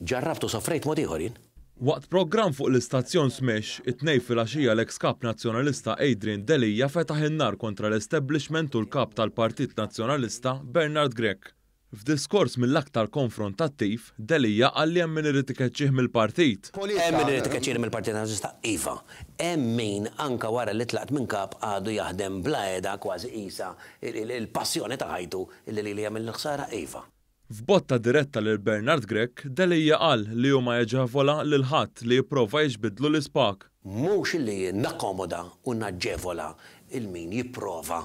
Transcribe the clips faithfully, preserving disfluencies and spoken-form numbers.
Ġarrabtu sofrejt mod ieħor jien. Waqt programm fuq l-istazzjon Smash, it-Tnejn filgħaxija, l-ex kap Nazzjonalista Adrian Delia fetaħ in-nar kontra l-establishment u l-kap tal-Partit Nazzjonalista Bernard Grech. F'diskors mill-aktar konfrontattiv, Delia qal li hemm min irid ikeċċih mill-partit. Hemm min irid ikeċċini mill-Partit Nazzjonalista, iva. Hemm min anka wara li tlaqt minn kap għadu jaħdem bla heda, kważi qisha il-passjoni ta' ħajtu illi li jagħmel l-ħsara, iva. F'botta diretta lil Bernard Grech, Delia qal li hu ma jaġevola lil ħadd li jipprova jiġbidlu l-ispag. Mhux li nakkomoda u naġġevola lil min jipprova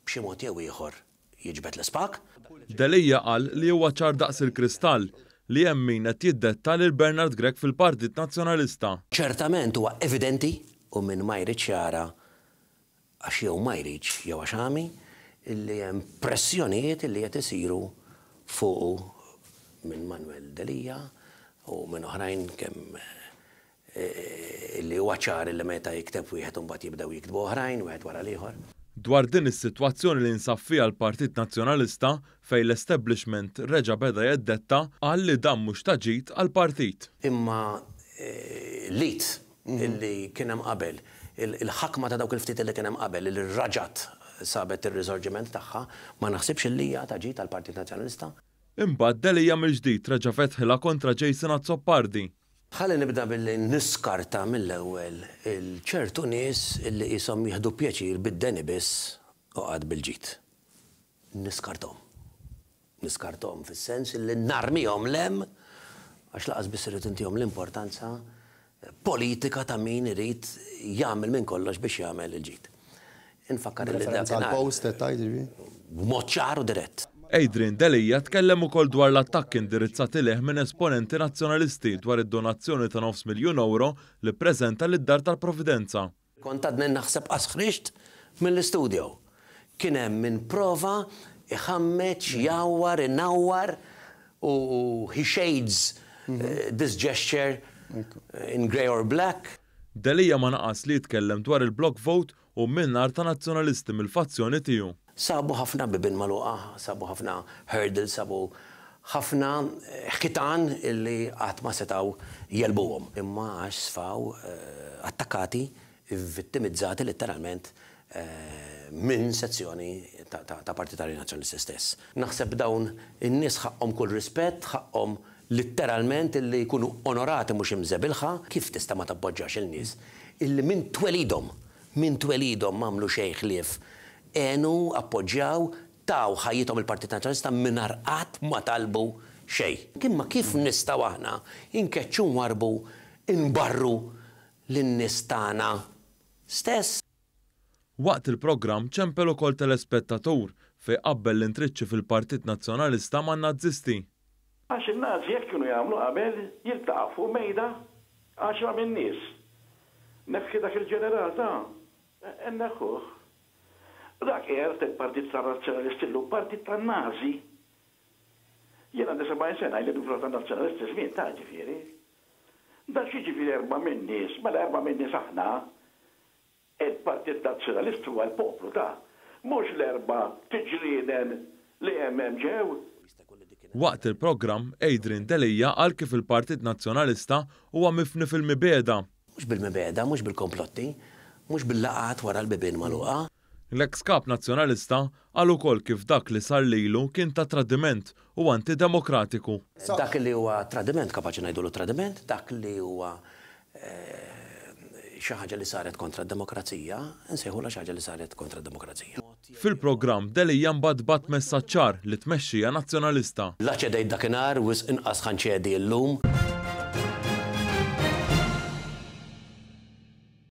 b'xi mod jew ieħor jiġbed l-ispag. Delia qal li huwa ċar daqs il-kristall li hemm min qed jiddetta lil Bernard Grech fil-Partit Nazzjonalista. Ċertament huwa evidenti, u min ma jridx jara għax jew ma jridx jew għax għami, illi hemm pressjonijiet illi qed isiru fuqu minn Manuel Delia u minn oħrajn, kemm eh, illi huwa ċar illi meta jikteb wieħed, imbagħad jibdew jiktbu oħrajn wieħed wara l-ieħor. Dwar din is-sitwazzjoni li nsab fiha l-Partit Nazzjonalista, fejn l-establishment reġa' beda jeddetta, qal li dan mhux ta' ġid għall-partit. Imma eh, l-id illi kien hemm qabel, il-ħakma ta' dawk il-ftit illi kien hemm qabel, li reġgħet sabet ir-risorġiment tagħha, ma naħsibx illi hija ta' ġid għall-Partit Nazzjonalista. Imbagħad Delia mill-ġdid reġa' fetħilha kontra Jason Azzopardi. Ħalli nibda billi niskarta mill-ewwel il-ċertu nies illi qishom jieħdu pjaċir bid-deni biss u qatt bil-ġid. Niskarthom. Niskarthom fis-sens illi narmihom 'l hemm, għax lanqas biss irrid intihom l-importanza politika ta' min irid jagħmel minn kollox biex jagħmel il-ġid. Infakkar li Referenza dakinhar għal-post qed tgħid, ġifieri? B'mod ċar u dirett. Adrian Delia tkellem ukoll dwar l-attakki indirizzati lejh minn esponenti nazzjonalisti dwar id-donazzjoni ta' nofs miljun euro li ppreżenta lid-Dar tal-Providenza. Kont għadni naħseb qas ħriġt mill-istudio. Kien hemm min prova iħammeċ, jawwar, inawwar u he shades eh, this gesture in grey or black. Delia ma naqas li jitkellem dwar il-block vote u minnar ta' nazzjonalisti mill-fazzjoni tiegħu. Sabu ħafna bibien magħluqa, sabu ħafna hurdles, sabu ħafna eh, ħitan illi qatt ma setaw jegħlbuhom. Imma għax sfaw eh, attakkati, vittimizzati letteralment eh, minn sezzjoni ta', ta, ta' Partitari Nazzjonalisti stess. Naħseb dawn in-nies ħaqhom kull rispett, ħaqhom letteralment illi jkunu onorati, mhux imżebilħa. Kif tista' ma tappoġġax il-nies illi minn twelidhom, minn twelidhom m'għamlu xejn ħlief għenu, appoġġjaw, taw ħajjithom il-Partit Nazzjonalista mingħajr qatt ma talbu xejn? Imma kif nistgħu aħna inkeċċu, nwarbu, inbarru lin-nies tagħna stess? Waqt il-programm ċempel ukoll telespettatur fejn qabbel l-intriċċi fil-Partit Nazzjonalista man-Nazisti. Għax il-Nazi jekk kienu jagħmlu qabel, jiltaqgħu fuq mejda għaxra minn nies. Neħħi dak il-ġeneral ta' neħħuh. Dak qiegħed il-Partit tan-Nazzjonalisti llum partit tan-Nazi. Jien għandi sebgħin sena li dufra tan-Nazzjonalisti żmien ta' ġifieri. Dak xi ġifieri erba' minn nies, mela erba' minn nies aħna. Il-Partit Nazzjonalist huwa l-poplu ta' mhux l-erba' tiġrieden li hemm hemm ġew. Waqt il-programm, Adrian Delia qal kif il-Partit Nazzjonalista huwa mifni fil-mibegħda. Mhux bil-mibegħda, mhux bil-komplotti, mhux bil-laqgħat wara l-bibien magħluqa. L-ex kap Nazzjonalista qal ukoll kif dak li sar lilu kien ta' tradiment u antidemokratiku. Dak li huwa tradiment kapaċi ngħidulu tradiment, dak li huwa eh, xi ħaġa li saret kontra d-demokrazija, nsejħulha xi ħaġa li saret kontra d-demokrazija. Fil-programm, Delia mbagħad bagħat messaġġ ċar lit-tmexxija Nazzjonalista. La ċedejt dakinhar, wisq inqas ħa nċedi llum.